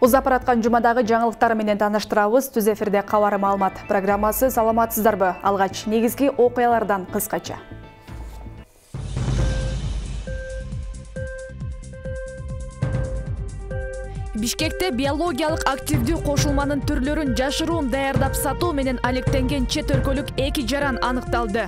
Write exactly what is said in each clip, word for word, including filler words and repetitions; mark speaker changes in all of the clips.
Speaker 1: Узап бараткан жумадагы жаңылыктар менен таныштырабыз. Түз эфирде кабар маалымат программасы. Саламатсыздарбы? Алгач негизги окуялардан кыскача. Бишкекте биологиялык активдүү кошулманын түрлөрүн жашыруун даярдап сатуу менен алектенген чет өлкөлүк эки жаран аныкталды.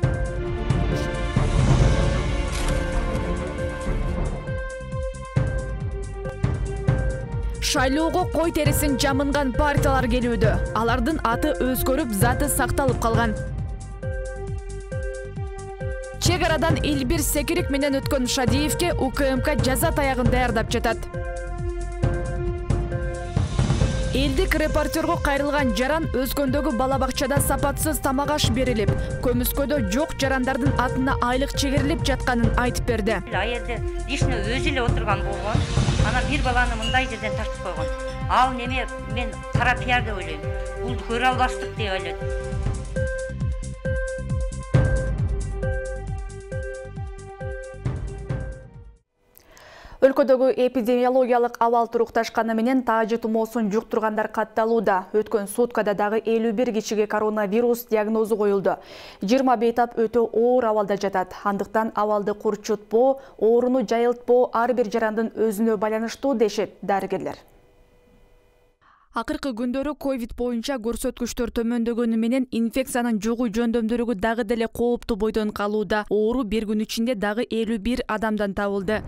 Speaker 1: Шайлоого кой терисин жамынган партиялар келүүдө. Алардын аты өзгөрүп, заты сакталып калган. Чек арадан Элбир Секирик менен өткөн Шадиевке УКМК жаза таягын даярдап жатат. Элдик репортерго кайрылган жаран Өзгөндөгү бала бакчада сапатсыз тамак аш берилип, көмүскөдө жок жарандардын атына айлык чегерилип жатканын айтып берди.
Speaker 2: Аерде лично өзү эле отурган болгон. Ана бир баланы мындай жерден тартып койгон. Ал неме мен кара пиар деп ойлойм. Бул көрө албаштык деп ойлойм.
Speaker 1: Өлкөдөгү эпидемиологиялык абал турукташканы менен таажы тумоосун жуктургандар катталууда. Өткөн суткада дагы элүү бир кишиге коронавирус диагнозу коюлду. жыйырма бейтап өтө оор абалда жатат. Андыктан абалды курчутпоо, ооруну жайылтпоо ар бир жарандын өзүнө байланыштуу дешет дарыгерлер. Акыркы күндөрү ковид боюнча көрсөткүчтөр төмөндөгөнү менен инфекциянын жугуу жөндөмдүүлүгү дагы деле кооптуу бойдон калууда. Оору бир күн ичинде дагы элүү бир адамдан табылды.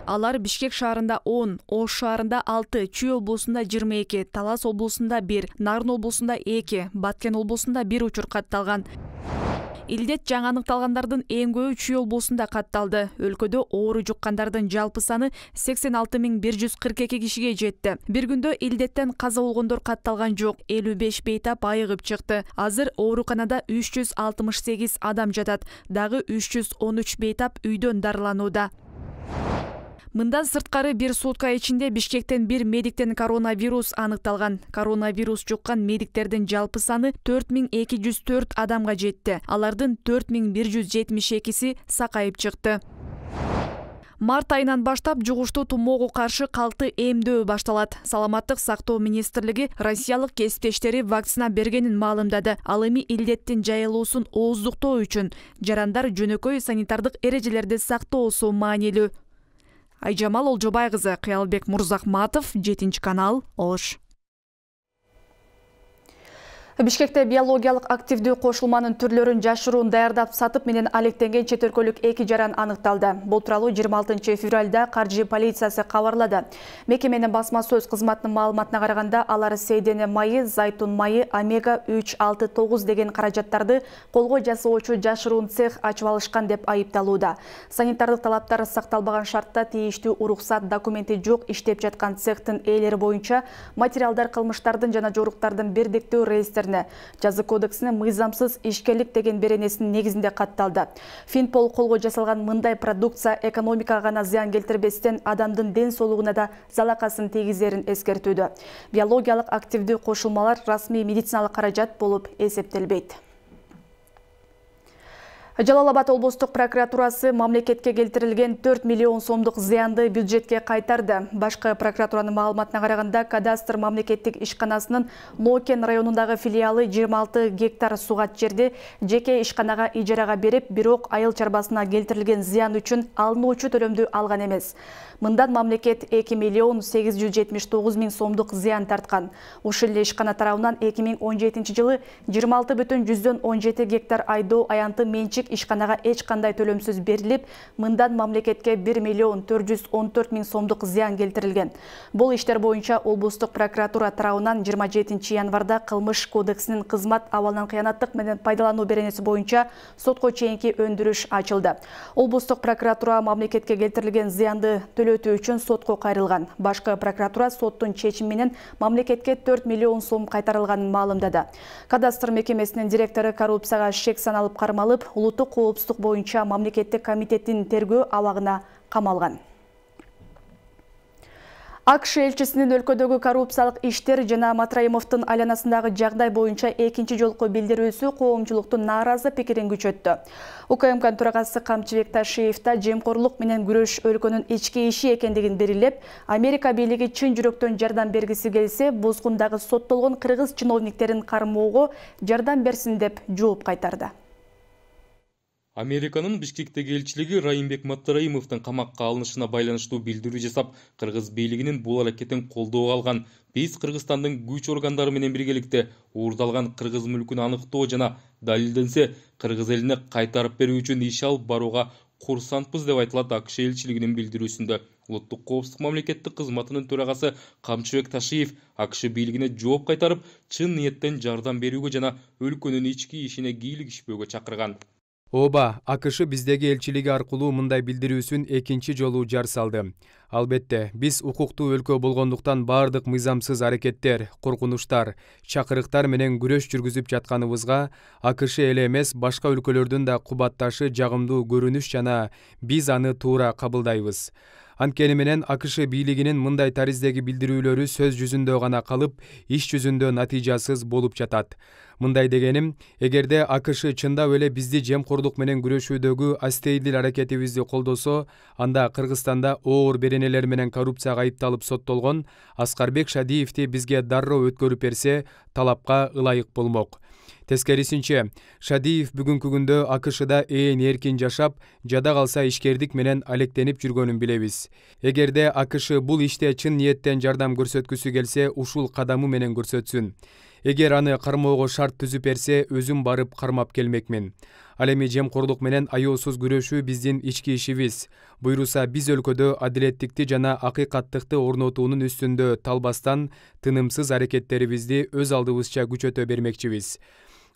Speaker 1: Алар Бишкек шаарында он, Ош шаарында алты, Чүй облусунда жыйырма эки, Талас облусунда бир, Нарын облусунда эки, Баткен облусунда бир учур катталган. Илдет жаңы аныкталгандардын эң көбү Чүй облусунда катталды. Өлкөдө оору жуккандардын жалпы саны сексен алты миң бир жүз кырк эки кишиге жетти. Бир күндө илдеттен каза болгондор катталган жок, элүү беш бейтап айыгып чыкты. Азыр ооруканада үч жүз алтымыш сегиз адам жатат, дагы үч жүз он үч бейтап үйдөн дарыланууда. Мындан сырткары бир сутка ичинде Бишкектен бир медиктен коронавирус аныкталган. Коронавирус жуккан медиктердин жалпы саны төрт миң эки жүз төрт адамга жетти. Алардын төрт миң бир жүз жетимиш экиси сакайып чыкты. Март айынан баштап жугуштуу тумоого каршы калты эмдөө башталат. Саламаттык сактоо министрлиги россиялык кесиптештери вакцина бергенин маалымдады. Ал эми илдеттин жайылуусун ооздуктоо үчүн жарандар жөнөкөй санитардык эрежелерди сактоосу маанилүү. Айжамал Олжобай кызы, Кыялбек Мурзахматов, жетинчи канал, Ош. Бишкекте биологиялык активдүү кошулманын түрлөрүн жашыруун даярдап сатып менен алектенген чет өлкөлүк эки жаран аныкталды. Бул тууралуу жыйырма алтынчы февралда каржы полициясы кабарлады. Мекеменин басма сөз кызматынын маалыматына караганда, алар сейдене майы, зайтун майы, омега үч алты тогуз деген каражаттарды колго жасоочу жашыруун цех ачып алышкан деп айыпталууда. Санитардык талаптар сакталбаган шартта тийиштүү уруксат документи жок иштеп жаткан цехтин ээлери боюнча материалдар кылмыштардын жана жоруктардын бирдиктүү реестерине Жаза кодексине мыйзамсыз ишкерлик деген беренесинин негизинде катталды. Финпол колго жасалган мындай продукция экономикага гана зыян келтирбестен адамдын ден соолугуна да залакасын тийгизерин эскертүүдө. Биологиялык активдүү кошулмалар расмий медициналык каражат болуп эсептелбейт. Жалал Абад облустук прокуратурасы мамлекетке келтирилген төрт миллион сомдук зыянды бюджетке кайтарды. Башкы прокуратуранын маалыматына караганда, кадастр мамлекеттик ишканасынын Нокен районундагы филиалы жыйырма алты гектар сугат жерди жеке ишканага ижарага берип, бирок айыл чарбасына келтирилген зыян үчүн алынуучу төлөмдү алган эмес. Мындан мамлекет эки миллион сегиз жүз жетимиш тогуз миң сомдук зыян тарткан. Ушул эле ишкана тарабынан эки миң он жетинчи жылы жыйырма алты бүтүн жүздөн он жети гектар айдоо аянты менчик ишканага эч кандай төлөмсүз берилип, мындан мамлекетке бир миллион төрт жүз он төрт миң сомдук зыян келтирилген. Бул иштер боюнча облустук прокуратура тарабынан жыйырма жетинчи январда кылмыш кодексинин кызмат абалынан кыянаттык менен пайдалануу беренеси боюнча сотко чейинки өндүрүш ачылды. Облустук прокуратура мамлекетке келтирилген зыянды төлөтүү үчүн сотко кайрылган. Башкы прокуратура соттун чечими менен мамлекетке төрт миллион сом кайтарылганын маалымдады. Кадастр мекемесинин директору коррупцияга шек саналып кармалып, улуттук коопсуздук боюнча мамлекеттик комитеттин тергөө абагына камалган. АКШ элчисинин өлкөдөгү коррупциялык иштер жана Матраимовдун айланасындагы жагдай боюнча экинчи жолку билдирүүсү коомчулуктун нааразы пикирин күчөттү. УКМК төрагасы Камчыбек Ташиев да жемкорлук менен күрөш өлкөнүн ички иши экендигин белгилеп, Америка бийлиги чын жүрөктөн жардам бергиси келсе, бузгундагы соттолгон кыргыз чиновниктерин кармоого жардам берсин деп жооп кайтарды.
Speaker 3: Американын Бишкектеги элчилиги Райымбек Матраимовдун камакка алынышына байланыштуу билдирүү жасап, кыргыз бийлигинин бул аракетин колдоого алган, биз Кыргызстандын күч органдары менен биргеликте уурдалган кыргыз мүлкүн аныктоо жана далилденсе кыргыз элине кайтарып берүү үчүн иш алып барууга курсантпыз деп айтылат АКШ элчилигинин билдирүүсүндө. Улуттук коопсуздук мамлекеттик кызматынын төрагасы Камчыбек Ташиев АКШ бийлигине жооп кайтарып, чын ниеттен жардам берүүгө жана өлкөнүн ички ишине кийлигишпөөгө чакырган.
Speaker 4: Оба, АКШ биздеги элчилиги аркылуу мындай билдирүүсүн экинчи жолу жар салды. Албетте, биз укуктуу өлкө болгондуктан бардык мыйзамсыз аракеттер, коркунучтар, чакырыктар менен күрөш жүргүзүп жатканыбызга АКШ эле эмес, башка өлкөлөрдүн да кубатташы жагымдуу көрүнүш жана биз аны туура кабылдайбыз. Анткени менен АКШ бийлигинин мындай тариздеги билдирүүлөрү сөз жүзүндө гана калып, иш жүзүндө натыйжасыз болуп жатат. Мындай дегеним, эгерде АКШ чындап эле бизди жемкорлук менен күрөшүүдөгү астейдил аракетибизди колдосо, анда Кыргызстанда оор беренелер менен коррупцияга айыпталып соттолгон Аскарбек Шадиевди бизге дароо өткөрүп берсе, талапка ылайык болмок. Тескерисинче, Шадиев бүгүнкү күндө АКШда ээн эркин жашап, жада калса ишкердик менен алектенип жүргөнүн билебиз. Эгерде АКШ бул иште чын ниеттен жардам көрсөткүсү келсе, ушул кадамы менен көрсөтсүн. Эгер аны кармоого шарт түзүп берсе, өзүм барып кармап келмекмин. Ал эми жемкорлук менен аяосуз күрөшүү биздин ички ишибиз. Буйруса биз өлкөдө адилеттикти жана акыйкаттыкты орнотуунун үстүндө талбастан тынымсыз аракеттерибизди өз алдыбызча күчөтө бермекчибиз.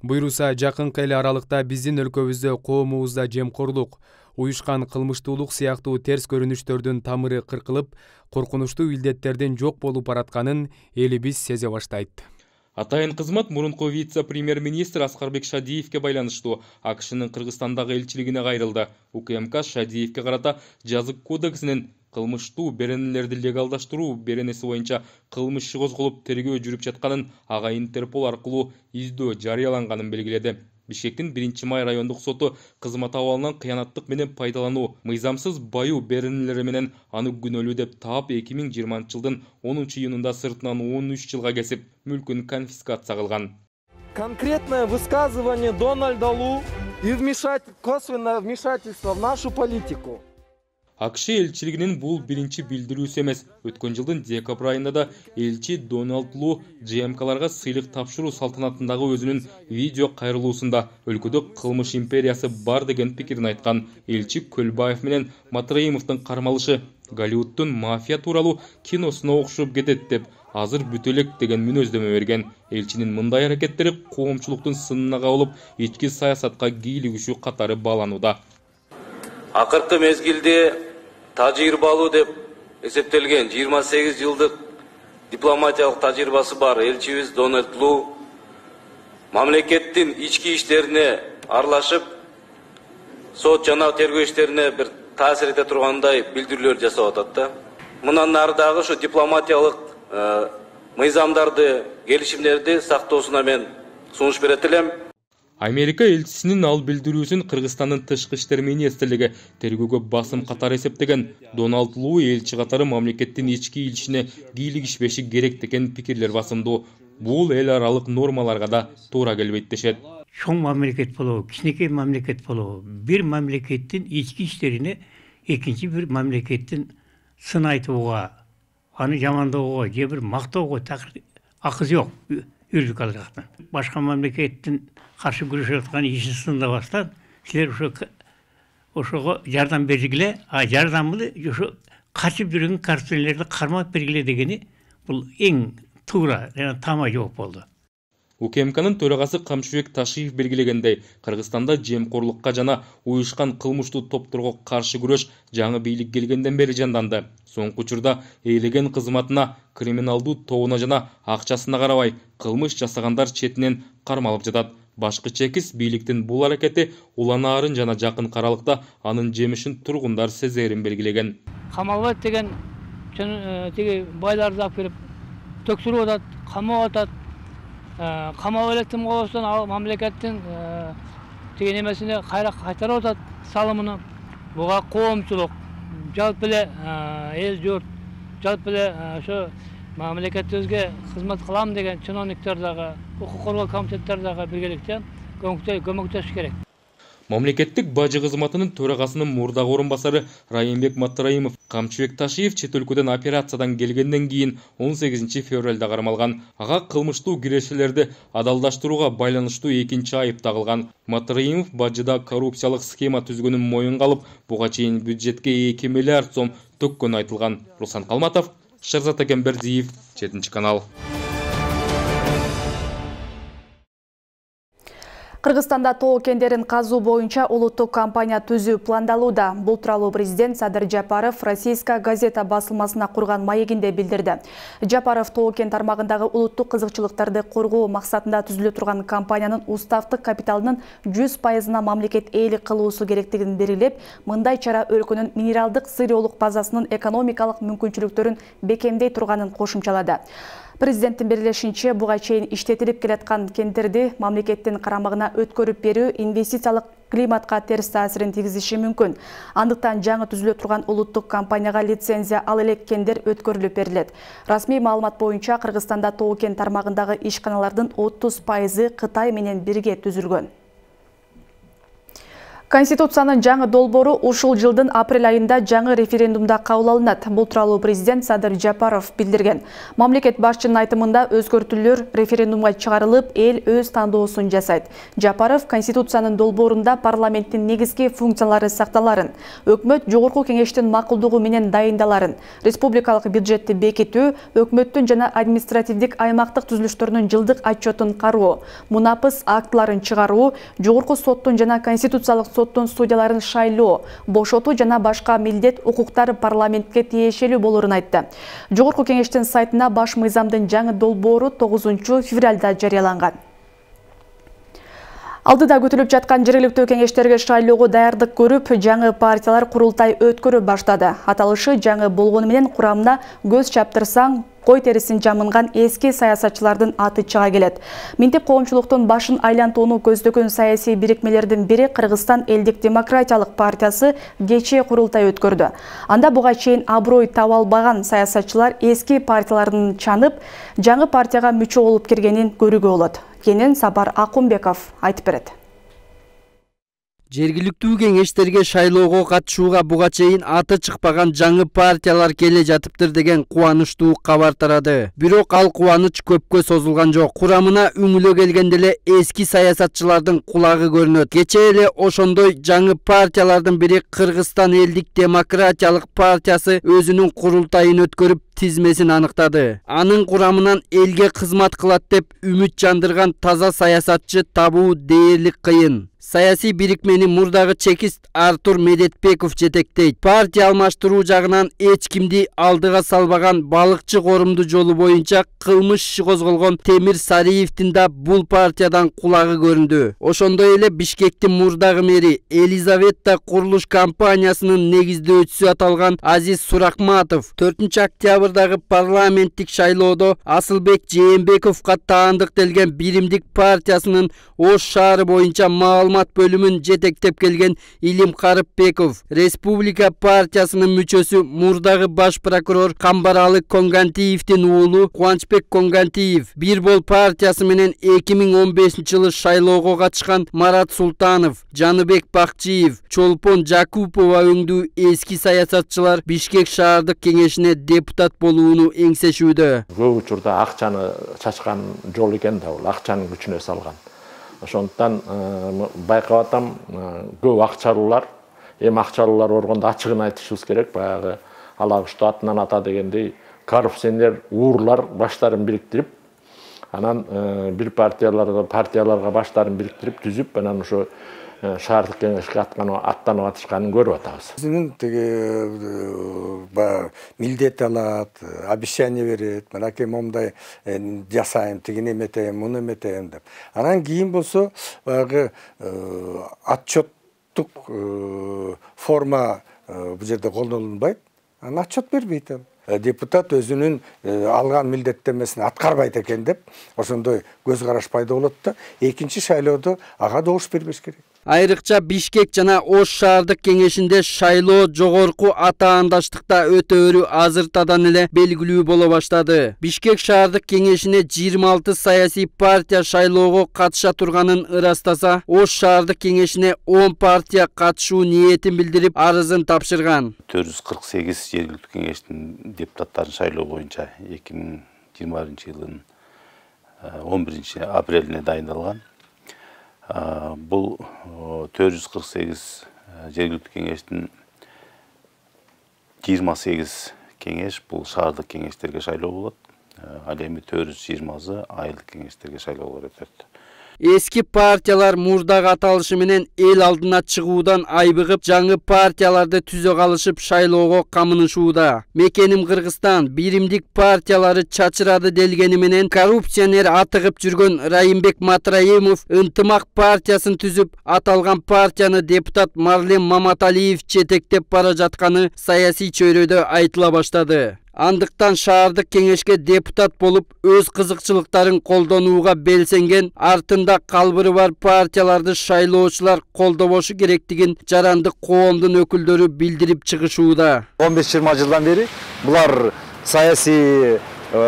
Speaker 4: Буйруса жакынкы эле аралыкта биздин өлкөбүздө коомубузда жемкорлук, уюшкан кылмыштуулук сыяктуу терс көрүнүштөрдүн тамыры кыркылып, коркунучтуу илдеттердин жок болуп баратканын элибиз сезе баштайт.
Speaker 3: Атайын кызмат мурунку вице-премьер-министр Аскарбек Шадиевке байланыштуу АКШнын Кыргызстандагы элчилигине кайрылды. УКМК Шадиевке карата жазык кодексинин кылмыштуу беренелерди легалдаштыруу беренеси боюнча кылмыш иши козголуп тергөө жүрүп жатканын, ага Интерпол аркылуу издөө жарыяланганын белгиледи. Бишкектин биринчи май райондук соту кызмат абалынан кыянаттык менен пайдалануу, мыйзамсыз баюу беренелери менен аны күнөөлүү деп таап эки миң жыйырманчы жылдын онунчу июнунда сыртынан он үч жылга кесип, мүлкүн конфискация кылган.
Speaker 5: Конкретное высказывание Дональда Лу и вмешатель... косвенное вмешательство в нашу политику.
Speaker 3: АКШ элчилигинин бул биринчи билдирүүсү эмес. Өткөн жылдын декабрь айында да элчи Дональд Лу ЖМКларга сыйлык тапшыруу салтанатындагы өзүнүн видео кайрылуусунда өлкөдө кылмыш империясы бар деген пикирин айткан. Элчи Көлбаев менен Матраимовдун кармалышы Голливудтун мафия тууралуу киносуна окшоп кетет деп азыр бүтө элек деген мүнөздөмө берген. Элчинин мындай аракеттери коомчулуктун сынына кабылып, ички саясатка кийлигишүү катары бааланууда.
Speaker 6: Акыркы мезгилде тажрыйбалуу деп эсептелген жыйырма сегиз жылдык дипломатиялык тажрыйбасы бар элчибиз Дональд Лу мамлекеттин ички иштерине аралашып, сот жана тергөө иштерине бир таасир эте тургандай билдирүүлөр жасап атат да. Мындан ары дагы ушу дипломатиялык мыйзамдарды, келишимдерди сактоосуна мен сунуш берет элем.
Speaker 3: Америка элчисинин ал билдирүүсүн Кыргызстандын тышкы иштер министрлиги тергөөгө басым катары эсептеген. Дональд Лу элчи катары мамлекеттин ички ишине кийлигишпеши керек деген пикирлер басымдуу. Бул эл аралык нормаларга да туура келбейт дешет.
Speaker 7: Чоң мамлекет болобу, кичинекей мамлекет болобу, бир мамлекеттин ички иштерине экинчи бир мамлекеттин сын айтууга, аны жамандоого же бир мактоого такыр акысы жок юридикалык жактан. Башка мамлекеттин каршы күрөшүп аткан ишин сындабастан силер ошо ошого жардам бергиле, а жардамды ошо качып жүргөн коррупционерлерди кармап бергиле дегени бул эң туура жана тама жооп болду.
Speaker 3: УКМКнын төрагасы Камчыбек Ташиев белгилегендей, Кыргызстанда жемкорлукка жана уюшкан кылмыштуу топторго каршы күрөш жаңы бийлик келгенден бери жанданды. Соңку учурда ээлеген кызматына, криминалдуу тобуна жана акчасына карабай, кылмыш жасагандар четинен кармалып жатат. Башкы чекис бийликтин бул аракети уланаарын жана жакын аралыкта анын жемишин тургундар сезерин белгилеген.
Speaker 8: Камалбек деген тиги байларды алып келип төксүрүп атат, камап атат. Камап электим болсон ал мамлекеттин тиги немесине кайра кайтарып атат салымын. Буга коомчулук, жалпы эле эл журт, жалпы эле ошо мамлекетибизге кызмат кылам деген чиновниктер дагы, укук коргоо комитеттер дагы биргеликте көмөктөшүш керек.
Speaker 3: Мамлекеттик бажы кызматынын төрагасынын мурдагы орун басары Райымбек Маттыраимов Камчыбек Ташиев чет өлкөдөн операциядан келгенден кийин он сегизинчи февралда кармалган. Ага кылмыштуу кирешелерди адалдаштырууга байланыштуу экинчи айып тагылган. Маттыраимов бажыда коррупциялык схема түзгөнүн моюнга алып, буга чейин бюджетке эки миллиард сом төккөнү айтылган. Руслан Калматов, Шерзат Экембердиев, жетинчи канал.
Speaker 1: Кыргызстанда тоо кендерин казуу боюнча улуттук компания түзүү пландалууда. Бул тууралуу президент Садыр Жапаров Российская газета басылмасына курган маегинде билдирди. Жапаров тоо кен тармагындагы улуттук кызыкчылыктарды коргоо максатында түзүлө турган компаниянын уставдык капиталынын жүз пайызына мамлекет ээлик кылуусу керектигин белгилеп, мындай чара өлкөнүн минералдык сырьеолук базасынын экономикалык мүмкүнчүлүктөрүн бекемдей турганын кошумчалады. Президенттин белгилешинче, буга чейин иштетилип келаткан кендерди мамлекеттин карамагына өткөрүп берүү инвестициялык климатка терс таасирин тийгизиши мүмкүн. Андыктан жаңы түзүлө турган улуттук компанияга лицензия ал элек кендер өткөрүлүп берилет. Расмий маалымат боюнча Кыргызстанда тоо кен тармагындагы ишканалардын отуз пайызы Кытай менен бирге түзүлгөн. Конституциянын жаңы долбоору ушул жылдын апрель айында жаңы референдумда кабыл алынат. Бул тууралуу президент Садыр Жапаров билдирген. Мамлекет башчынын айтымында өзгөртүүлөр референдумга чыгарылып, эл өз тандоосун жасайт. Жапаров Конституциянын долбоорунда парламенттин негизги функциялары сакталарын, өкмөт жогорку кеңештин макулдугу менен дайындаларын, республикалык бюджетти бекитүү, өкмөттүн жана административдик аймактык түзүлүштөрүнүн жылдык отчетун кароо, мунапыс актыларын чыгаруу, жогорку соттун жана конституциялык соттун судьяларын шайлоо, бошотуу жана башка милдет укуктар парламентке тиешелүү болорун айтты. Жогорку кеңештин сайтына баш мыйзамдын жаңы долбоору тогузунчу февралда жарыяланган. Алдыда күтүлүп жаткан жергиликтүү кеңештерге шайлоого даярдык көрүп, жаңы партиялар курултай өткөрүп баштады. Аталышы жаңы болгону менен курамына көз чаптырсаң, кой терисин жамынган эски саясатчылардын аты чыга келет. Минтип коомчулуктун башын айлантууну көздөгөн саясий бирикмелердин бири Кыргызстан элдик демократиялык партиясы кечээ курултай өткөрдү. Анда буга чейин аброй таба албаган саясатчылар эски партияларын чанып, жаңы партияга мүчө болуп киргенин көрүүгө болот. Кенен Сапар Акунбеков айтып берет.
Speaker 9: Жергиликтүү кеңештерге шайлоого катышууга буга чейин аты чыкпаган жаңы партиялар келе жатыптыр деген кубанычтуу кабар тарады. Бирок ал кубаныч көпкө созулган жок. Курамына үңүлө келгенде эле эски саясатчылардын кулагы көрүнөт. Кечээ эле ошондой жаңы партиялардын бири Кыргызстан элдик демократиялык партиясы өзүнүн курултайын өткөрүп тизмесин аныктады. Анын курамынан элге кызмат кылат деп үмүт жандырган таза саясатчы табуу дээрлик кыйын. Саясий бирикмени мурдагы чекист Артур Медетбеков жетектейт. Партия алмаштыруу жагынан эч кимди алдыга салбаган балыкчы корумду жолу боюнча кылмыш иши козголгон Темир Сариевдин да бул партиядан кулагы көрүндү. Ошондой эле Бишкектин мурдагы мэри Елизавета курулуш компаниясынын негиздөөчүсү аталган Азиз Суракматов төртүнчү октябрдагы парламенттик шайлоодо Асылбек Жээнбековго таандыктелген Биримдик партиясынын Ош шаары боюнча маалымат бөлүмүн жетектеп келген Илим Карыпбеков, Республика партиясынын мүчөсү мурдагы баш прокурор Камбаралы Конгантиевдин уулу Кубанычбек Конгантиев, Бир бол партиясы менен эки миң он бешинчи жылы шайлоого катышкан Марат Султанов, Жаныбек Бакчиев, Чолпон Жакупова өңдүү эски саясатчылар Бишкек шаардык кеңешине депутат болууну эңсешүүдө.
Speaker 10: Көп учурда акчаны чачкан жол экен да, бул акчанын күчүнө салган. Ошондуктан байкап атам, көп акчалуулар, эми акчалуулар оргондо ачыгын айтышыбыз керек. Баягы ала кушту атынан ата дегендей коррупционер уурлар баштарын бириктирип, анан бир партияларга партияларга баштарын бириктирип түзүп, анан ошо шаардык кеңешке аттанып атышканын көрүп атабыз.
Speaker 11: Өзүнүн тиги милдет алат, обещание берет, мынакей момундай жасайм, тигини эметем, муну эметем деп. Анан кийин болсо баягы отчеттук форма бул жерде колдонулбайт. Анан отчет бербейт ал. депутат өзүнүн алган милдеттенмесин аткарбайт экен деп ошондой көз караш пайда болот да экинчи шайлоодо ага добуш бербеш керек.
Speaker 9: Айрыкча Бишкек жана Ош шаардык кеңешинде шайлоо жогорку атаандаштыкта өтөөрү азыртадан эле белгилүү боло баштады. Бишкек шаардык кеңешине жыйырма алты саясий партия шайлоого катыша турганын ырастаса, Ош шаардык кеңешине он партия катышуу ниетин билдирип, арызын тапшырган.
Speaker 12: төрт жүз кырк сегиз жергиликтүү кеңештин депутаттарын шайлоо боюнча эки миң жыйырма биринчи жылдын он биринчи апрелине дайындалган. Бұл төрт жүз кырк сегиз жергиликтүү кеңештин жыйырма сегиз кеңеш бул шаардык кеңештерге шайлоо болот. Ал эми төрт жүз жыйырмасы айылдык кеңештерге шайлоолор өтөт.
Speaker 9: Эски партиялар мурдагы аталышы менен эл алдына чыгуудан айбыгып, жаңы партияларды түзө калышып шайлоого камынышууда. Мекеним Кыргызстан биримдик партиялары чачырады делгени менен коррупционер атыгып жүргөн Райымбек Матраимов ынтымак партиясын түзүп, аталган партияны депутат Марлен Маматалиев четектеп бара жатканы саясий чөйрөдө айтыла баштады. Андыктан шаардык кеңешке депутат болуп, өз кызыкчылыктарын колдонууга белсенген, артында калбыры бар партияларды шайлоочулар колдобошу керектигин жарандык коомдун өкүлдөрү билдирип чыгышууда.
Speaker 13: он беш жыйырма жылдан бери булар саясий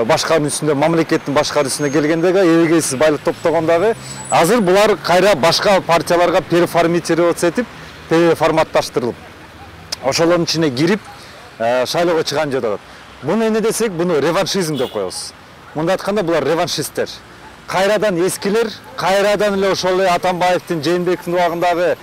Speaker 13: башкаруу үстүндө, мамлекеттин башкаруу үстүнө келгендеги эрегейсиз байлык топтогондагы, азыр булар кайра башка партияларга переформатироваться этип, переформатташтырылып, ошолордун ичине кирип, шайлоого чыган жатат. Буну эмне десек, буну реваншизм деп коебуз. Мында айтканда булар реваншисттер. Кайрадан эскилер, кайрадан эле ошол Атамбаевдин, Жээнбековдун убагындагы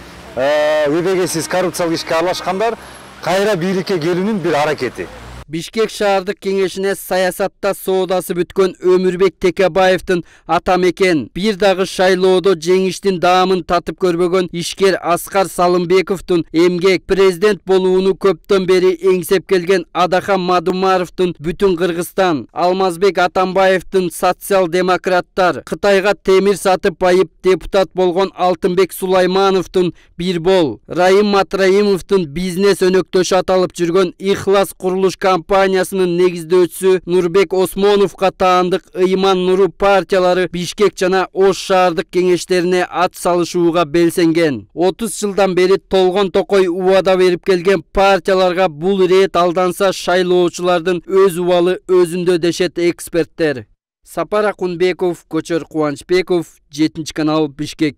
Speaker 13: өбөгөйсүз коррупциялык ишке аралашкандар кайра бийликке келүүнүн бир аракети.
Speaker 9: Бишкек шаардык кеңешине саясатта соодасы бүткөн Өмүрбек Текебаевдин ата мекен, бир дагы шайлоодо жеңиштин даамын татып көрбөгөн ишкер Аскар Салымбековдун эмгек президент болууну көптөн бери эңсеп келген Адахан Мадумаровдун бүтүн Кыргызстан, Алмазбек Атамбаевдин социал-демократтар, Кытайга темир сатып байып депутат болгон Алтынбек Сулаймановдун Бирбол, Райым Матраимовдун бизнес өнөктөшү аталып жүргөн Ихлас курулуш компаниясынын негиздөөчүсү Нурбек Осмоновго таандык Ыйман Нуру партиялары Бишкек жана Ош шаардык кеңештерине ат салышууга белсенген. отуз жылдан бери толгон токой убада берип келген партияларга бул рет алданса шайлоочулардын өз убалы өзүндө дешет эксперттер. Сапар Акунбеков, Көчөр Кубанычбеков, жетинчи канал, Бишкек.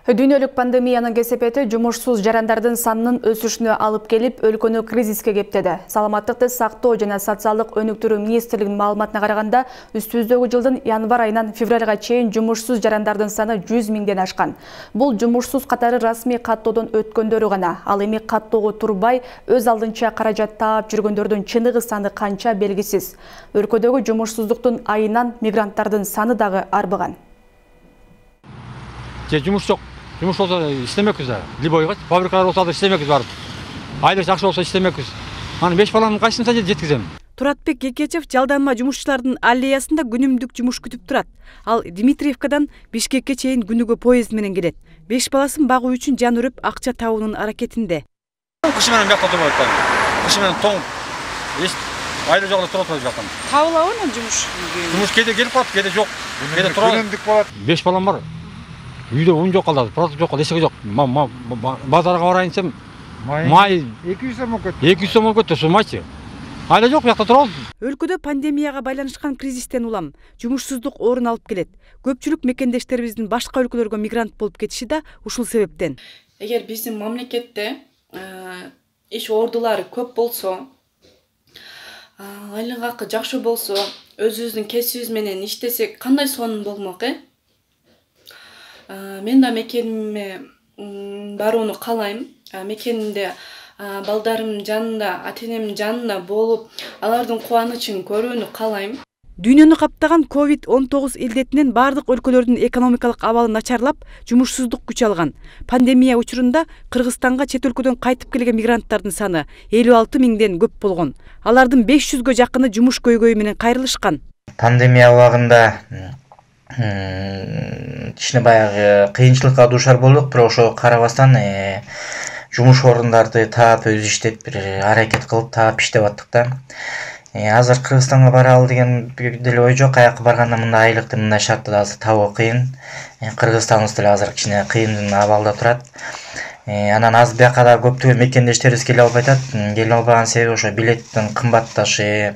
Speaker 1: Дүйнөлүк пандемиянын кесепети жумушсуз жарандардын санынын өсүшүнө алып келип, өлкөнү кризиске кептеди. Саламаттыкты сактоо жана социалдык өнүктүрүү министрлигинин маалыматына караганда, үстүбүздөгү жылдын январь айынан февралга чейин жумушсуз жарандардын саны жүз миңден ашкан. Бул жумушсуз катары расмий каттоодон өткөндөрү гана. Ал эми каттоого турбай, өз алдынча каражат таап жүргөндөрдүн чыныгы саны канча белгисиз. Өлкөдөгү жумушсуздуктун айынан мигранттардын саны дагы арбыган.
Speaker 14: Же жумуш жок. Жумуш болсо иштемекпиз. Либойго фабрикалар болсо да иштемекпиз барып. Айлык жакшы болсо иштемекпиз. Аны беш баланын кайсысына жеткизем.
Speaker 15: Туратбек Кекечев жалданма жумушчулардын аллеясында күнүмдүк жумуш күтүп турат. Ал Дмитриевкадан Бишкекке чейин күнүгө поезд менен келет. Беш баласын багуу үчүн жан үрүп акча табуунун аракетинде.
Speaker 14: Кышы менен бияка турбайт. Кышы менен тоң. Эч айлы жок эле туруп атат жактан.
Speaker 15: Табылабы анан жумуш?
Speaker 14: Жумуш кээде келип калат, кээде жок. Кээде турат. Күнүмдүк болот. Беш балам бар. Үйдө он жок калды, продукт жок, эсеги жок. Базарга барайын десем, май эки жүз сом өкөт. эки жүз сом өкөт, ошо майчы. Айла жок, бияка турабыз.
Speaker 15: Өлкөдө пандемияга байланышкан кризистен улам жумушсуздук орун алып келет. Көпчүлүк мекендештерибиздин башка өлкөлөргө мигрант болуп кетиши да ушул себептен.
Speaker 16: Эгер биздин мамлекетте иш ордулары көп болсо, айлык акы жакшы болсо, өзүбүздүн кесибибиз менен иштесек, кандай сонун болмок э? Мен да мекениме барууну каалайм. Мекенимде балдарымдын жанында, ата-энемдин жанында болуп, алардын кубанычын көрүүнү каалайм.
Speaker 15: Дүйнөнү каптаган ковид он тогуз илдетинен бардык өлкөлөрдүн экономикалык абалы начарлап, жумушсуздук күч алган. Пандемия учурунда Кыргызстанга чет өлкөдөн кайтып келген мигранттардын саны элүү алты миңден көп болгон. Алардын беш жүзгө жакыны жумуш көйгөйү менен кайрылышкан.
Speaker 17: Пандемия убагында кичине баягы кыйынчылыкка дуушар болдук, бирок ошого карабастан жумуш орундарды таап өзү иштеп бир аракет кылып таап иштеп аттык да. Азыр Кыргызстанга баралы деген деле ой жок. Каяка барганда мындай айлыкты, мындай шартты азыр табуу кыйын. Кыргызстаныбыз деле азыр кичине кыйын абалда турат. Анан азыр бияка да көптөгөн мекендештерибиз келе албай атат. Келе албаган себеби ошо билеттин кымбатташы,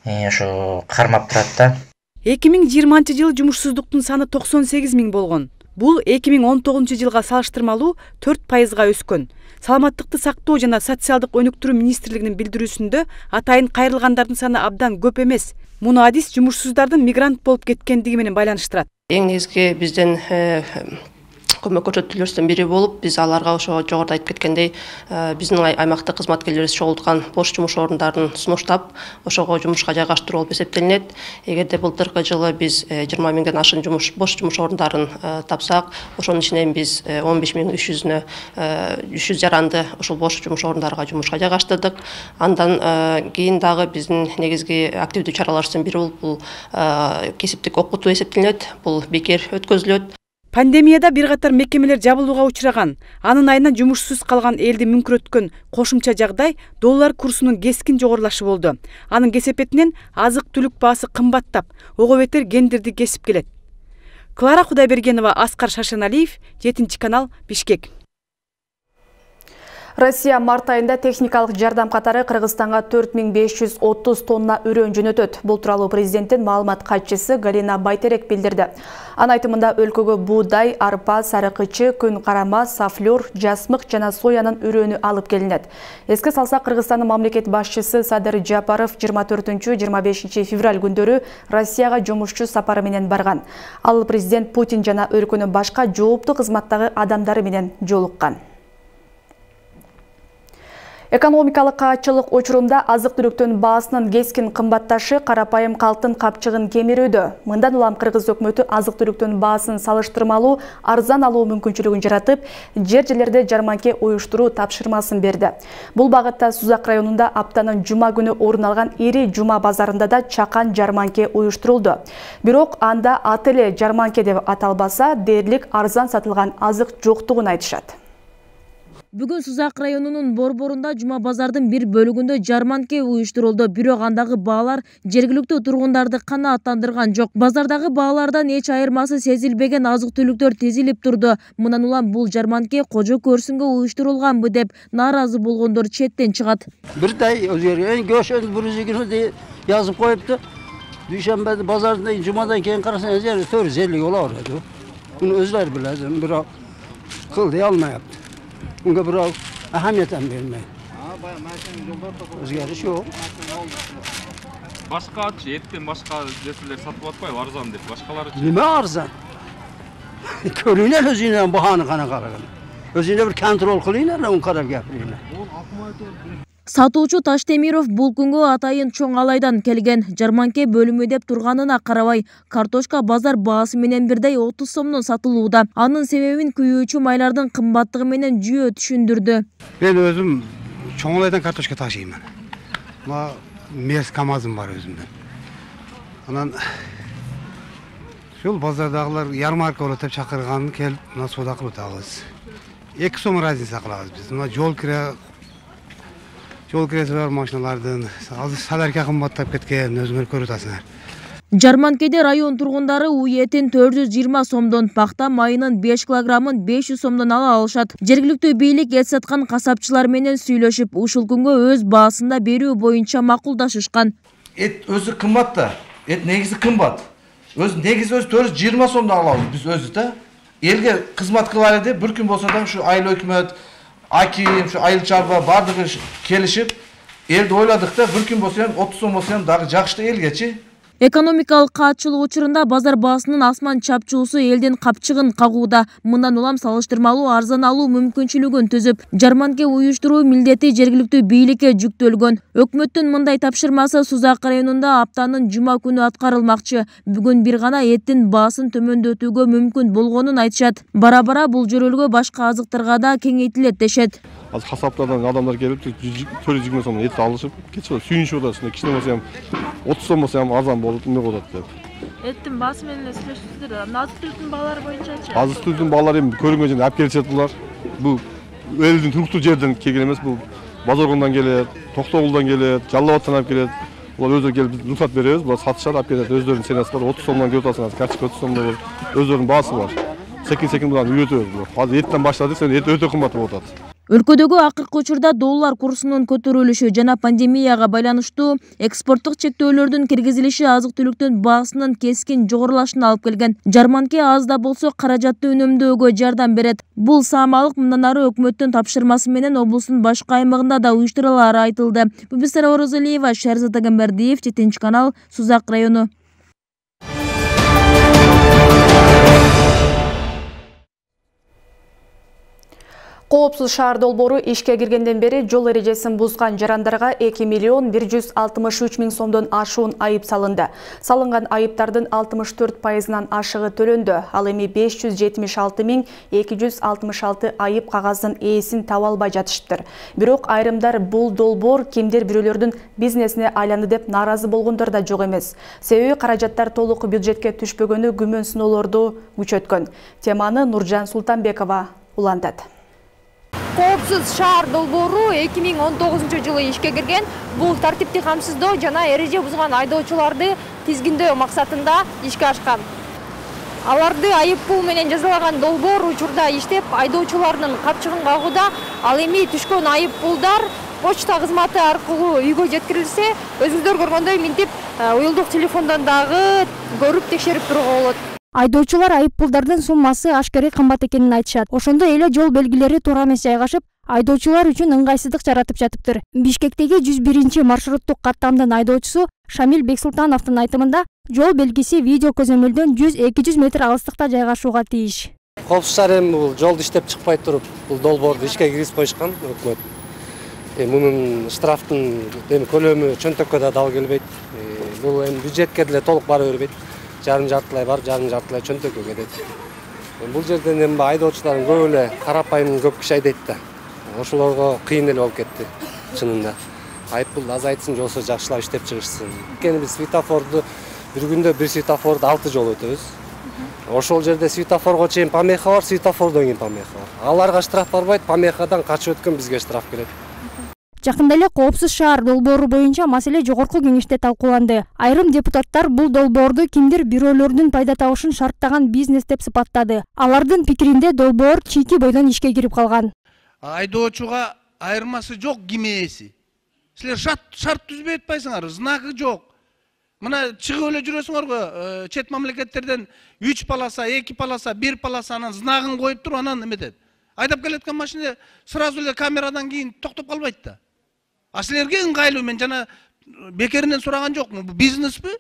Speaker 17: ошо кармап турат да.
Speaker 15: эки миң жыйырманчы жылы жумушсуздуктун саны токсон сегиз миң болгон. Бул эки миң он тогузунчу жылга салыштырмалуу төрт пайызга өскөн. Саламаттыкты сактоо жана социалдык өнүктүрүү министрлигинин билдирүүсүндө атайын кайрылгандардын саны абдан көп эмес. Муну адис жумушсуздардын мигрант болуп кеткендиги менен байланыштырат.
Speaker 18: Эң негизги бизден көмөк көрсөтүүлөрдүн бири болуп, биз аларга ошо жогоруда айтып кеткендей, биздин аймактык кызматкерлерибиз чогулткан бош жумуш орундарын сунуштап, ошого жумушка жайгаштыруу болуп эсептелинет. Эгерде былтыркы жылы биз жыйырма миңден ашык жумуш бош жумуш орундарын тапсак, ошонун ичинен биз он беш миң үч жүзүнө үч жүз жаранды ошол бош жумуш орундарга жумушка жайгаштырдык. Андан кийин дагы биздин негизги активдүү чараларыбыздын бири болуп бул кесиптик окутуу эсептелинет. Бул бекер өткөзүлөт.
Speaker 15: Пандемияда бир катар мекемелер жабылууга учураган, анын айынан жумушсуз калган элди мүнкүрөткөн кошумча жагдай доллар курсунун кескин жогорулашы болду. Анын кесепетинен азык-түлүк баасы кымбаттап, ого бетер кендирди кесип келет. Клара Кудайбергенова, Аскар Шашаналиев, жетинчи канал, Бишкек.
Speaker 1: Россия март айында техникалык жардам катары Кыргызстанга төрт миң беш жүз отуз тонна үрөн жөнөтөт. Бул тууралуу президенттин маалымат катчысы Галина Байтерек билдирди. Анын айтымында өлкөгө буудай, арпа, сарыкычы, күн карама, сафлёр, жасмык жана соянын үрөнү алып келинет. Эске салсак, Кыргызстандын мамлекет башчысы Садыр Жапаров жыйырма төртүнчү жыйырма бешинчи февраль күндөрү Россияга жумушчу сапары менен барган. Ал президент Путин жана өлкөнүн башка жооптуу кызматтагы адамдары менен жолуккан. Экономикалык каатчылык учурунда азык-түлүктүн баасынын кескин кымбатташы карапайым калктын капчыгын кемирүүдө. Мындан улам Кыргыз өкмөтү азык-түлүктүн баасын салыштырмалуу арзан алуу мүмкүнчүлүгүн жаратып, жер-жерлерде жарманке уюштуруу тапшырмасын берди. Бул багытта Сузак районунда аптанын жума күнү орун алган ири жума базарында да чакан жарманке уюштурулду. Бирок анда аты эле жарманке деп аталбаса, дээрлик арзан сатылган азык жоктугун айтышат.
Speaker 19: Бүгүн Сузак районунун борборунда жума базардын бир бөлүгүндө жарманке уюштурулду, бирок андагы баалар жергиликтүү тургундарды канааттандырган жок. Базардагы баалардан эч айырмасы сезилбеген азык-түлүктөр тизилип турду. Мындан улам бул жарманке кожо көрсүнгө уюштурулганбы деп нааразы болгондор четтен чыгат.
Speaker 20: Бирдей өзгөргөн, көшөн бир жүз эки деп жазып коюпту. Дүйшөмбө базарында жумадан кийин карасаңыз төрт жүз элүү боло берет. Муну өзлөр билет, бирок кыл дей алмайапты. Bunga birov ahamiyat ham bermaydi. O'zgarish yo'q.
Speaker 3: Boshqachi, etdan boshqa narsalar sotib atmaydi, arzon deb. Boshqalari
Speaker 20: nima arzon? Ko'ringlar o'zingizdan bahoni qanaqa qaragan. O'zingizlar bir kontrol qilinglar, uni qarab gapiringlar.
Speaker 19: Сатуучу Таштемиров бул күнгө атайын чоң алайдан келген. Жарманке бөлүмү деп турганына карабай, картошка базар баасы менен бирдей отуз сомдон сатылууда. Анын себебин күйүүчү майлардын кымбаттыгы менен жүйө түшүндүрдү.
Speaker 21: Мен өзүм чоң алайдан картошка ташыймын. Мына мерс камазым бар өзүмдөн. Анан ушул базардагылар ярмарка болот деп чакырганын келип, мына соода кылып атабыз. эки сом разница кылабыз биз. Мына жол кире Жол кирesi бар машиналардын азыр саларка кымбаттап кеткен, өзүңөр көрүп атасыңар.
Speaker 19: Жарманкеде район тургундары уй этин төрт жүз жыйырма сомдон, пахта майынын беш килограммын беш жүз сомдон ала алышат. Жергиликтүү бийлик эт саткан касапчылар менен сүйлөшүп, ушул күнгө өз баасында берүү боюнча макулдашышкан.
Speaker 22: Эт өзү кымбат да, эт негизи кымбат. Өз негизи өзү төрт жүз жыйырма сомдон алабыз биз өзү да. Элге кызмат кылалы деп бир күн болсо да ушу айыл өкмөт Аким, şu айыл чарба бардыгы келишип, элди ойладык да, бир күн болсо отуз сом болсо дагы жакшты элгечи.
Speaker 19: Экономикалык каатчылык учурунда базар баасынын асман чапчуусу элдин капчыгын кагууда. Мындан улам салыштырмалуу арзан алуу мүмкүнчүлүгүн түзүп, жарманке уюштуруу милдети жергиликтүү бийликке жүктөлгөн. Өкмөттүн мындай тапшырмасы Сузак районунда аптанын жума күнү аткарылмакчы. Бүгүн бир гана эттин баасын төмөндөтүүгө мүмкүн болгонун айтышат. Бара-бара бул жөрөлгө башка азыктарга да кеңейтилет дешет.
Speaker 23: Az kasaplardan adamlar gelip төрт жүз жыйырма сомдон эт алышып, keçip сүйүнүшүп атат. Кичине болсо ham отуз сом болсо ham арзан болуп, эмне болот деп.
Speaker 19: Эттин баасы менен эле сүйлөшүптүр. Азык-түлүктүн баалары боюнчачы?
Speaker 23: Азык-түлүктүн баалары эми көрүнгөн жерден алып келишет булар. Бул элдин туруктуу жерден келген эмес, бул Базоргондан келет, Токтогулдан келет, Жалал Абадтан алып келет. Булар өздөрү келип биз рұқсат беребиз, булар сатышат, алып келет. Өздөрүнүн ценасы бар, отуз сомдон көрүп атасыңар, карточка отуз сомдон бар. Өздөрүнүн баасы бар. Секин-секин буларны үйрөтөбүз. Азыр эттен баштады, сен эт өтө кымбат болуп атат.
Speaker 19: Өлкөдөгү акыркы учурда доллар курсунун көтөрүлүшү жана пандемияга байланыштуу экспорттук чектөөлөрдүн киргизилиши азык-түлүктүн баасынын кескин жогорулашына алып келген. Жарманке аз да болсо каражатты үнөмдөөгө жардам берет. Бул саамалык мындан ары өкмөттүн тапшырмасы менен облустун башка аймагында да уюштурулары айтылды. Бубисара Орозалиева, Шарзат Агамбердиев, Жетинчи канал, Сузак району.
Speaker 1: Коопсуз шаар долбоору ишке киргенден бери жол эрежесин бузган жарандарга эки миллион бир жүз алтымыш үч миң сомдон ашуун айып салынды. Салынган айыптардын алтымыш төрт пайызынан ашыгы төлөндү. Ал эми беш жүз жетимиш алты миң эки жүз алтымыш алты айып кагаздын ээсин таба албай жатышыптыр. Бирок айрымдар бул долбоор кимдир бирөөлөрдүн бизнесине айланды деп нааразы болгондор да жок эмес. Себеби каражаттар толук бюджетке түшпөгөнү күмөн сыноолорду күчөткөн. Теманы Нуржан Султанбекова улантат.
Speaker 2: Коопсуз шаар долбоору эки миң он тогузунчу жылы ишке кирген. Бул тартипти камсыздоо жана эреже бузган айдоочуларды тизгиндөө максатында ишке ашкан. Аларды айып пул менен жазалаган долбоор учурда иштеп, айдоочулардын капчыгын кагууда. Ал эми түшкөн айып пулдар почта кызматы аркылуу үйгө жеткирилсе, өзүңүздөр көргөндөй минтип уюлдук телефондон дагы көрүп текшерип турууга болот.
Speaker 4: Айдоочулар айып пулдардын суммасы ашкарый кымбат экенин айтышат. Ошондой эле жол белгилери туура эмес жайгашып, айдоочулар үчүн ыңгайсыздык жаратып жатыптыр. Бишкектеги жүз биринчи маршруттук каттамдын айдоочусу Шамил Бексултановдун айтымында, жол белгиси видео көзөмөлдөн жүз эки жүз метр алыстыкта жайгашууга тийиш.
Speaker 5: Коопсуз шаар эми бул жолду иштеп чыкпай туруп, бул долбоорду ишке киргизип коюшкан өкмөт. Мунун штрафтын эми көлөмү чөнтөккө да дал келбейт. Бул эми бюджетке деле толук бара бербейт. Жарым жартылай бар, жарым жартылай чөнтөккө кетет. Бул жерден эми айдоочулардын көп эле карапайым көп киши айдайт да. Ошолорго кыйын эле болуп кетти чынында. Айыппулду азайтсын, жолсо жакшылап иштеп чыгышсын. Анткени биз светофорду бир күндө бир светофорду алты жолу өтөбүз. Ошол жерде светофорго чейин помеха бар, светофордон кийин помеха бар. Аларга штраф барбайт, помехадан качып өткөн бизге штраф келет.
Speaker 4: Жакында эле коопсуз шаар долбоору боюнча маселе жогорку кеңеште талкууланды. Айрым депутаттар бул долбоорду кимдир бирөөлөрдүн пайда табышын шарттаган бизнес деп сыпаттады. Алардын пикиринде долбоор чийки бойдон ишке кирип калган.
Speaker 24: Айдоочуга айырмасы жок ким ээси. Силер шарт түзбөй атпайсыңар, знагы жок. Мына чыгып эле жүрөсүңөргө, чет мамлекеттерден үч полоса, эки полоса, бир полосанын знагын коюп туруп анан эметет. Айдап келеткан машина сразу эле камерадан кийин токтоп калбайт да. А силерге ыңгайлуу, мен жана бекеринен сураган жокмун. Бул бизнеспи?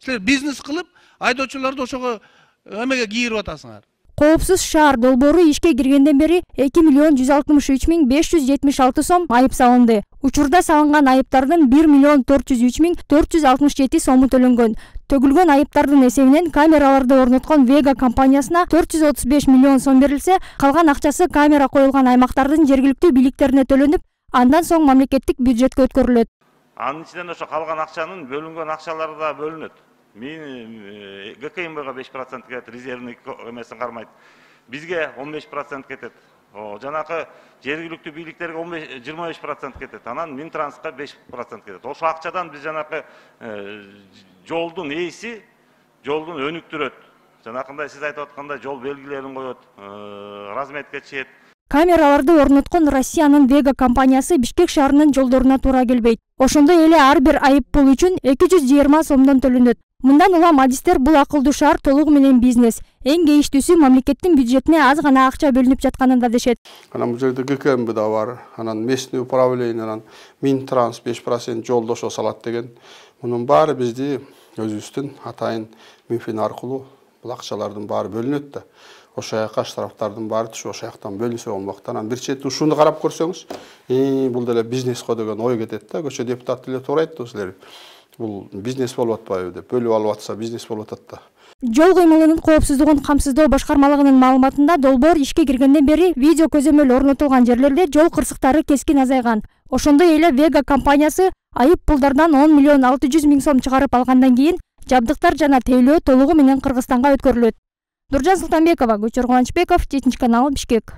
Speaker 24: Силер бизнес кылып, айдоочуларды ошого эмеге кийирип атасыңар.
Speaker 4: Коопсуз шаар долбоору ишке киргенден бери эки миллион жүз алтымыш үч миң беш жүз жетимиш алты сом айып салынды. Учурда салынган айыптардын бир миллион төрт жүз үч миң төрт жүз алтымыш жети сому төлөнгөн. Төгүлгөн айыптардын эсебинен камераларды орноткон Vega компаниясына төрт жүз отуз беш миллион сом берилсе, калган акчасы камера коюлган аймактардын жергиликтүү бийликтерине төлөнүп, андан соң мамлекеттик бюджетке өткөрүлөт.
Speaker 25: Анын ичинен ошо калган акчанын бөлүнгөн акчалары да бөлүнөт. Мен ГКМБга беш процент кетет, резервный эмесин кармайт. Бизге он беш процент кетет. Жанакы жергиликтүү бийликтерге жыйырма беш процент кетет. Анан Минтрансқа беш процент кетет. Ошо акчадан биз жанакы жолдун ээси жолдун өнүктүрөт. Жанакындай сиз айтып аткандай жол белгилерин коет, разметке чейет.
Speaker 4: Камераларды орноткон Россиянын Vega компаниясы Бишкек шаарынын жолдоруна туура келбейт. Ошондой эле ар бир айып пул үчүн эки жүз жыйырма сомдон төлөнөт. Мындан улам адистер бул акылдуу шаар толугу менен бизнес. Эң кейиштүүсү мамлекеттин бюджетине аз гана акча бөлүнүп жатканын да дешет.
Speaker 23: Анан бул жерде ГКМБ да бар, анан местный управление, анан Минтранс беш процент жолдошо салат деген. Мунун баары бизди өзүбүздүн атайын Минфин аркылуу бул акчалардын баары бөлүнөт да. Ошо жака штрафтардын баары түшүп, ошо жактан бөлүнсө болмок. Анан бир чети ушуну карап көрсөңүз, бул деле бизнес го деген ой кетет да. Көчө депутат деле туура айтты силер. Бул бизнес болуп атпайбы деп, бөлүп алып атса бизнес болуп атат да.
Speaker 4: Жол кыймылынын коопсуздугун камсыздоо башкармалыгынын маалыматында долбоор ишке киргенден бери видео көзөмөл орнотулган жерлерде жол кырсыктары кескин азайган. Ошондой эле Vega компаниясы айып пулдардан он миллион алты жүз миң сом чыгарып алгандан кийин Жабдыктар жана тейлөө толугу менен Кыргызстанга өткөрүлөт. Нуржан Султанбекова, Көчөр Кубанычбеков, жетинчи канал, Бишкек.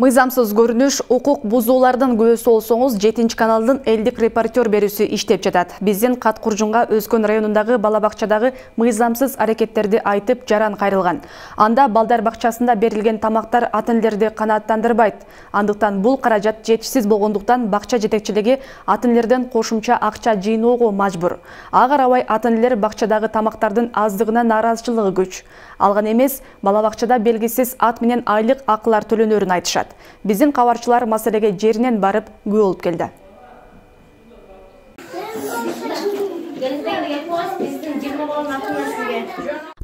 Speaker 1: Мыйзамсыз көрүнүш, укук бузуулардын күбөсү болсоңуз, жетинчи каналдын элдик репортер берүүсү иштеп жатат. Биздин Кат Куржунга Өзкөн районундагы бала бакчадагы мыйзамсыз аракеттерди айтып жаран кайрылган. Анда балдар бакчасында берилген тамактар ата-энелерди канааттандырбайт. Андыктан бул каражат жетишсиз болгондуктан бакча жетекчилиги ата-энелерден кошумча акча жыйноого мажбур. Ага карабай ата-энелер бакчадагы тамактардын аздыгына нааразычылыгы күч. Алган эмес, бала бакчада белгисиз ат менен айлык акылар төлөнөрүн айтышат. Биздин кабарчылар маселеге жеринен барып күбө болуп келди.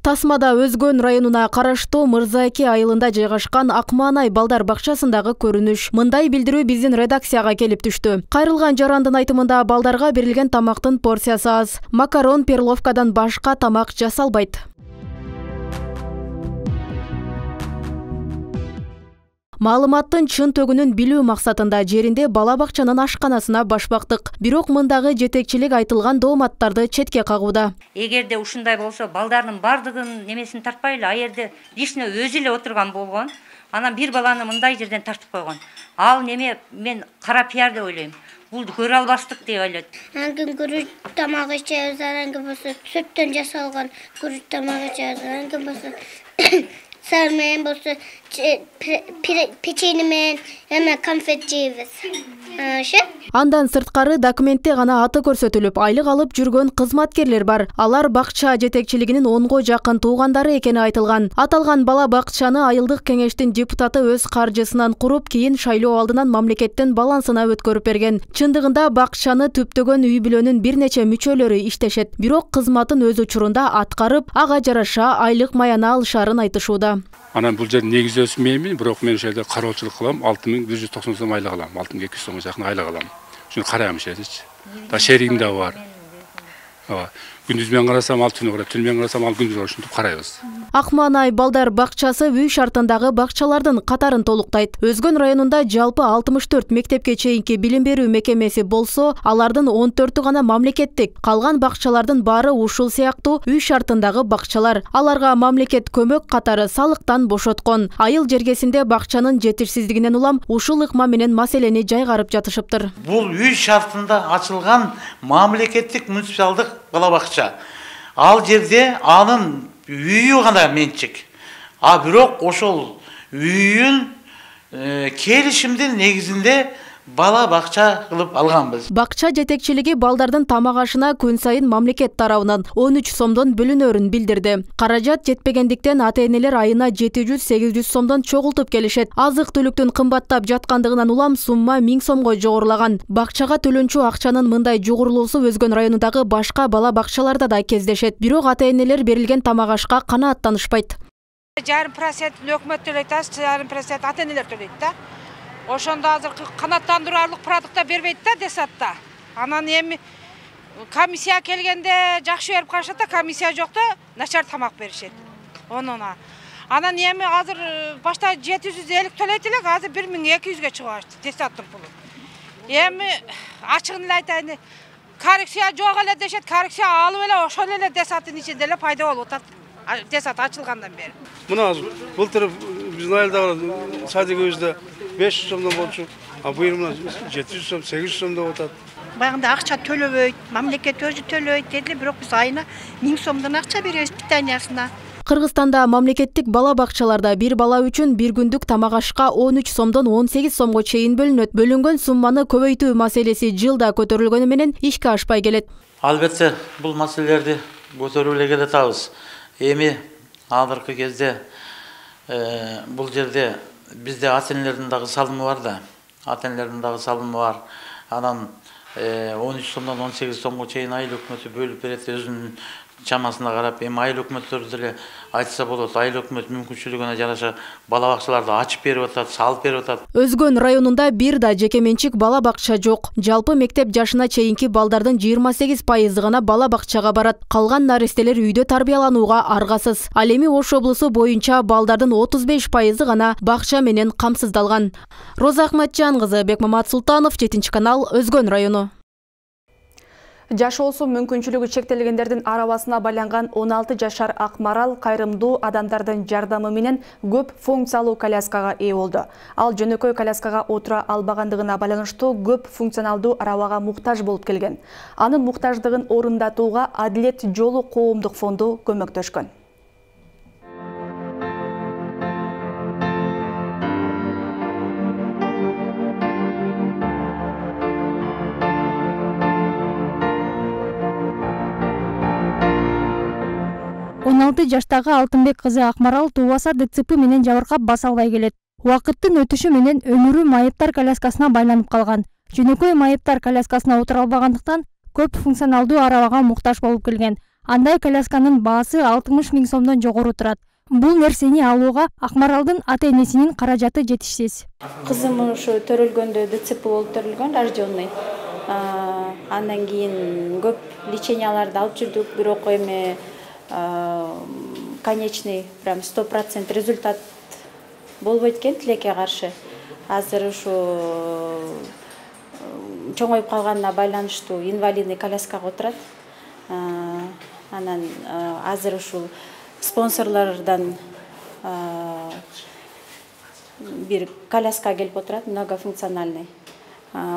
Speaker 6: Тасмада Өзгөн районуна караштуу Мырзаэки айылында жайгашкан Акмаанай балдар бакчасындагы көрүнүш. Мындай билдирүү биздин редакцияга келип түштү. Кайрылган жарандын айтымында балдарга берилген тамактын порциясы аз. Макарон, перловкадан башка тамак жасалбайт. Маалыматтын чын төгүнүн билүү максатында жеринде бала бакчанын ашканасына баш бактык. Бирок мындагы жетекчилик айтылган дооматтарды четке кагууда.
Speaker 7: Эгерде ушундай болсо, балдардын бардыгын немесин тартпайлы, а жерде лично өзү эле отурган болгон. Анан бир баланы мындай жерден тартып койгон. Ал неме мен кара пиар деп ойлойм. Бул көрө албастык деп ойлойт.
Speaker 8: Аңгы күрүч тамак ичебиз, аңгы болсо сүттөн жасалган күрүч тамак ичебиз, аңгы болсо сармен болсо печенье менен эме конфет жейбиз.
Speaker 6: Андан сырткары документте гана аты көрсөтүлүп, айлык алып жүргөн кызматкерлер бар. Алар бакча жетекчилигинин онго жакын туугандары экени айтылган. Аталган бала бакчаны айылдык кеңештин депутаты өз каржысынан куруп, кийин шайлоо алдынан мамлекеттин балансына өткөрүп берген. Чындыгында бакчаны түптөгөн үй бүлөнүн бир нече мүчөлөрү иштешет. Бирок кызматын өз учурунда аткарып, ага жараша айлык маяны алышарын айтышууда.
Speaker 10: Анан бул жер негизи өсмөймүн, бирок мен ошол жерде кароочулук кылам, алты миң бир жүз токсон сом айлык алам, алты миң эки жүз сомго жакын айлык алам. Шуну карайм ошерчи. Да шеригим да бар. Ооба. Күндүз менен карасам ал түнү карайт, түнү менен карасам ал күндүз ошентип карайбыз.
Speaker 6: Акмаанай балдар бакчасы үй шартындагы бакчалардын катарын толуктайт. Өзгөн районунда жалпы алтымыш төрт мектепке чейинки билим берүү мекемеси болсо, алардын он төртү гана мамлекеттик. Калган бакчалардын баары ушул сыяктуу үй шартындагы бакчалар. Аларга мамлекет көмөк катары салыктан бошоткон. Айыл жергесинде бакчанын жетишсиздигинен улам ушул ыкма менен маселени жайгарып жатышыптыр.
Speaker 11: Бул үй шартында ачылган мамлекеттик муниципалдык бала бакча. Ал жерде анын үйү гана менчик. А бирок ошол үйүн келишимдин негизинде бала бакча кылып алганбыз.
Speaker 6: Бакча жетекчилиги балдардын тамак ашына күн сайын мамлекет тарабынан он үч сомдон бөлүнөрүн билдирди. Каражат жетпегендиктен ата-энелер айына жети жүз сегиз жүз сомдон чогултуп келишет. Азык-түлүктүн кымбаттап жаткандыгынан улам сумма миң сомго жогорулаган. Бакчага төлөнчү акчанын мындай жогорулуусу Өзгөн районундагы башка бала бакчаларда да кездешет. Бирок ата-энелер берилген тамак ашка канааттанышпайт.
Speaker 26: Жарым процент өкмөт төлөйт, жарым процент ата-энелер төлөйт да. Ошондо азыр канааттандырарлык продукта бербейт да десатта. Анан эми комиссия келгенде жакшы берип калышат да, комиссия жокто начар тамак беришет. Онуна. Анан эми азыр башта жети жүз элүү төлөйт элек, азыр бир миң эки жүзгө чыгып атты десаттын пулу. Эми ачыгын эле айтайын, коррекция жок эле дешет, коррекция алып эле ошол эле десаттын ичинде эле пайда болуп атат. Десат ачылгандан бери.
Speaker 21: Мына былтыр биздин айылдагы садигибизде беш жүз сомдон болчу, а быйыл мына жети жүз сом, сегиз жүз сом деп атат.
Speaker 27: Баягында акча төлөбөйт, мамлекет өзү төлөйт деди, бирок биз айына миң сомдон акча беребиз питаниясына.
Speaker 6: Кыргызстанда мамлекеттик бала бакчаларда бир бала үчүн бир күндүк тамак ашка он үч сомдон он сегиз сомго чейин бөлүнөт. Бөлүнгөн сумманы көбөйтүү маселеси жылда көтөрүлгөнү менен ишке ашпай келет.
Speaker 11: Албетте бул маселелерди көтөрүп эле келатабыз. Эми азыркы кезде бул жерде бизде ата-энелердин дагы салымы бар да. Ата-энелердин дагы салымы бар. Анан он үч сомдон он сегиз сомго чейин айыл өкмөтү бөлүп берет, өзүнүн чамасына карап. Эми айыл өкмөттөрү деле айтса болот. Айыл өкмөт мүмкүнчүлүгүнө жараша бала бакчаларды ачып берип атат, салып берип атат.
Speaker 6: Өзгөн районунда бир да жеке менчик бала бакча жок. Жалпы мектеп жашына чейинки балдардын жыйырма сегиз пайызы гана бала бакчага барат. Калган нарестелер үйдө тарбияланууга аргасыз. Ал эми Ош облусу боюнча балдардын отуз беш пайызы гана бакча менен камсыздалган. Роза Ахматжан кызы, Бекмамат Султанов, жетинчи канал, Өзгөн району.
Speaker 1: Жашоосу мүмкүнчүлүгү чектелгендердин арабасына байланган он алты жашар Акмарал кайрымдуу адамдардын жардамы менен көп функциялуу коляскага ээ болду. Ал жөнөкөй коляскага отура албагандыгына байланыштуу көп функционалдуу арабага муктаж болуп келген. Анын муктаждыгын орундатууга Адилет жолу коомдук фонду көмөктөшкөн.
Speaker 4: он алты жаштагы Алтынбек кызы Акмарал туубаса ДЦП менен жабыркап баса албай келет. Убакыттын өтүшү менен өмүрү майыптар коляскасына байланып калган. Жөнөкөй майыптар коляскасына отура албагандыктан көп функционалдуу арабага муктаж болуп келген. Андай колясканын баасы алтымыш миң сомдон жогору турат. Бул нерсени алууга Акмаралдын ата-энесинин каражаты жетишсиз.
Speaker 9: Кызым ушу төрөлгөндө ДЦП болуп төрөлгөн, рожденный. Андан кийин көп леченияларды алып жүрдүк, бирок эми конечный прям сто процент результат болбойт экен тилекке каршы. Азыр ушу чоңоюп калганына байланыштуу инвалидный коляскага отурат. Анан азыр ушул спонсорлордон бир коляска келип отурат, многофункциональный.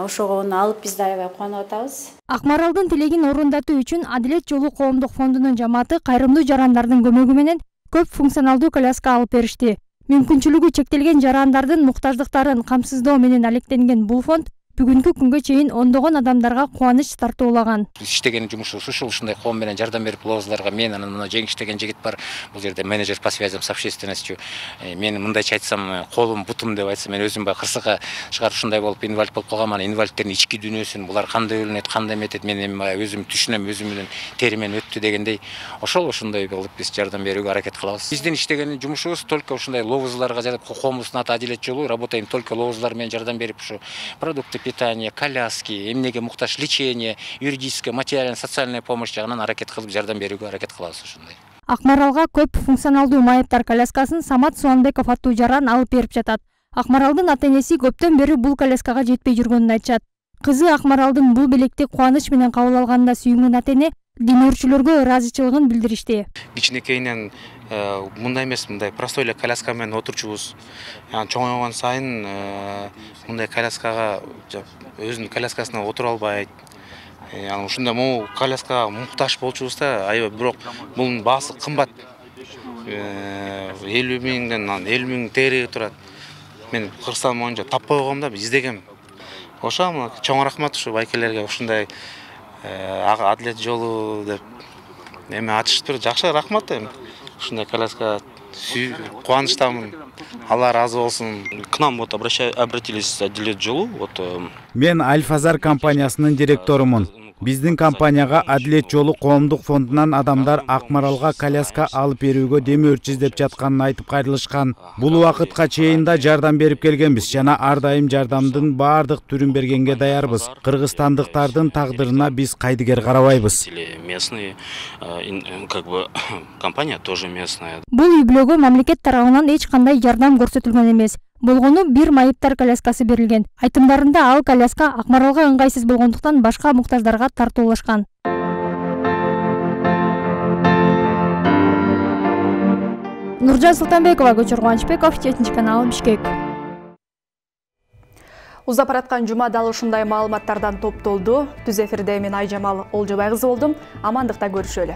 Speaker 9: Ошого оны алып биз да аябай кубанып атабыз.
Speaker 4: Акмаралдын тилегин орундатуу үчүн Адилет жолу коомдук фондунун жамааты кайрымдуу жарандардын көмөгү менен көп функционалдуу коляска алып беришти. Мүмкүнчүлүгү чектелген жарандардын муктаждыктарын камсыздоо менен алектенген бул фонд бүгүнкү күнгө чейин ондогон адамдарга кубаныч тартуулаган.
Speaker 12: Иштеген жумушубуз ушул ушундай коом менен жардам берип булабыздарга мен анан мына жеңиш деген жигит бар. Бул жерде менеджер по связям с общественностью. Мен мындайча айтсам, колум бутум деп айтсам, мен өзүм бай кырсыкка чыгарып ушундай болуп инвалид болуп калгам. Анан инвалидтердин ички дүйнөсүн, булар кандай өлүнөт, кандай эметет, мен эми өзүм түшүнөм, өзүм менен теримен өттү дегендей. Ошол ошондой болуп биз жардам берүүгө аракет кылабыз. Биздин иштеген жумушубуз только ушундай ловузларга жардам, коомубуздун аты Адилет жолу, работаем только ловузлар менен жардам берип ушу продукты питания, коляски, эмнеге муктаж лечение, юридическая, материальная, социальная помощь жагынан аракет кылып жардам берүүгө аракет кылабыз ошондой.
Speaker 4: Акмаралга көп функционалдуу майыптар коляскасын Самат Суанбеков аттуу жаран алып берип жатат. Акмаралдын ата-энеси көптөн бери бул коляскага жетпей жүргөнүн айтышат. Кызы Акмаралдын бул белекти кубаныч менен кабыл алганына сүйүнгөн ата-эне демөөрчүлөргө ыраазычылыгын билдиришти.
Speaker 13: Кичинекейинен мындай эмес, мындай простой эле коляска менен отурчубуз. Чоңойгон сайын мындай коляскага өзүнүн коляскасына отура албайт. Анан ушундай могу коляскага муктаж болчубуз да, аябай, бирок бунун баасы кымбат. элүү миңден элүү миң тегереги турат. Мен Кыргызстан боюнча таппай койгом да, издегем. Ошо чоң рахмат ушу байкелерге, ушундай Адилет жолу деп эме ачыштыр, жакшы рахмат эми. Ушундай коляска кубанычтамын. Алла разы болсун.
Speaker 14: К нам вот обратились Адилет жолу. Вот
Speaker 16: мен Альфазар компаниясынын директорумун. Биздин компанияга Адилет жолу коомдук фондунан адамдар Акмаралга коляска алып берүүгө демөөрчү издеп жатканын айтып кайрылышкан. Бул убакытка чейин да жардам берип келгенбиз жана ар дайым жардамдын баардык түрүн бергенге даярбыз. Кыргызстандыктардын тагдырына биз кайдыгер карабайбыз.
Speaker 14: Местные, как бы компания тоже местная.
Speaker 4: Бул үй-бүлөгө мамлекет тарабынан эч кандай жардам көрсөтүлгөн эмес. Болгону бир майыптар коляскасы берилген. Айтымдарында ал коляска Акмаралга ыңгайсыз болгондуктан башка муктаждарга тартуулашкан. Нуржан Султанбекова, Көчөр Кубанычбеков, жетинчи канал, Бишкек.
Speaker 1: Узап бараткан жума дал ушундай маалыматтардан топтолду. Түз эфирде мен Айжамал Олжобай кызы болдум. Амандыкта көрүшөлү.